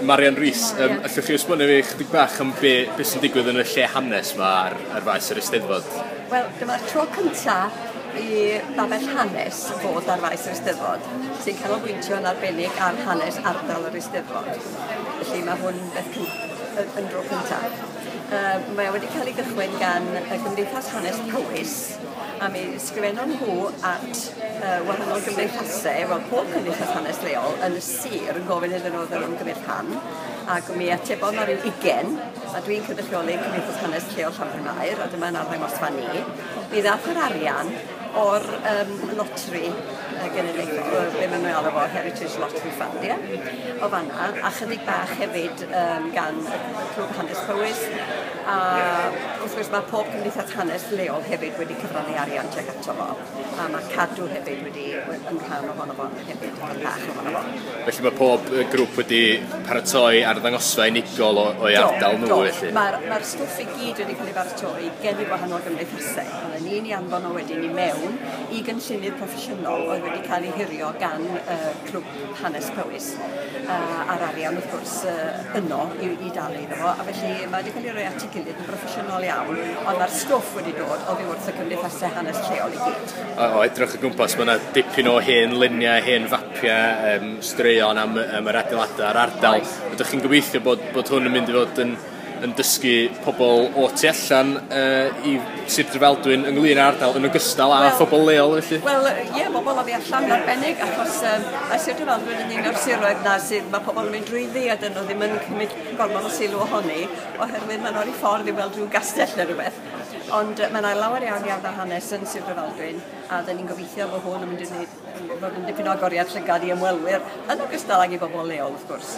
Marian Rees, allwch chi esbonio fi chydig bach am be sy'n digwydd yn y lle hanes yma ar faes yr Eisteddfod? Wel, dyma'r tro cyntaf i babell hanes fod ar faes yr Eisteddfod, sy'n canolbwyntio yn arbennig ar hanes ardal yr Eisteddfod. Felly mae hwn beth yn dro cyntaf. Mae wedi cael ei gychwyn gan y Gymdeithas Hanes Powys, a mi sgrifennon nhw at wahanol gymdeithasau, wel pob cymdeithas hanes leol yn y sir yn gofyn iddyn nhw oedden nhw'n gymryd rhan, ac mi atebodd na ryw 20, a dwi'n cynrychioli Cymdeithas Hanes Lleol Llanbrynmair, a dyma'n arddangosfa ni. Mi ddath yr arian o'r lotri genedlaethol, be maen nhw'n alw fo, Heritage Lottery Fund, ie? O fanna, a chydig bach hefyd gan y Clwb Hanes Powys, a wrth gwrs mae pob cymdeithas hanes leol hefyd wedi cyfrannu arian tuag ato fo, a mae Cadw hefyd wedi yn rhan ohono fo hefyd, yn bach ohono fo. Felly mae pob grŵp wedi paratoi arddangosfa unigol o'i ardal nhw, felly? Mae'r stwff i gyd wedi cael ei baratoi gen i wahanol gymdeithasau. Oedden ni'n ei anfon o wedyn i mewn i gynllunydd proffesiynol oedd wedi cael ei hurio gan Clwb Hanes Powys, a'r arian wrth gwrs yno i dalu iddo fo, a felly mae wedi cael ei roi at ei gilydd yn broffesiynol iawn, ond mae'r stwff wedi dod oddi wrth y cymdeithasau hanes lleol i gyd. O edrych o gwmpas, mae yna dipyn o hen luniau, hen fapiau, straeon am yr adeiladau a'r ardal. Ydych chi'n gobeithio bod hwn yn mynd i fod yn dysgu pobl o tu allan i Sir Drefaldwyn ynglyn â'r ardal yn ogystal â phobl leol felly? Wel, ie, bobl oddi allan yn arbennig, achos mae Sir Drefaldwyn yn un o'r siroedd na sydd mae pobl yn mynd drwyddi a dyn nhw ddim yn cymryd gormod o sylw ohoni, oherwydd maen nhw ar eu ffordd i weld rhyw gastell neu rhywbeth. Ond mae yna lawer iawn iawn o hanes yn Sir Drefaldwyn, a dyn ni'n gobeithio bod hwn yn mynd i wneud, fod yn dipyn o agoriad llygad i ymwelwyr, yn ogystal ag i bobl leol, wrth gwrs.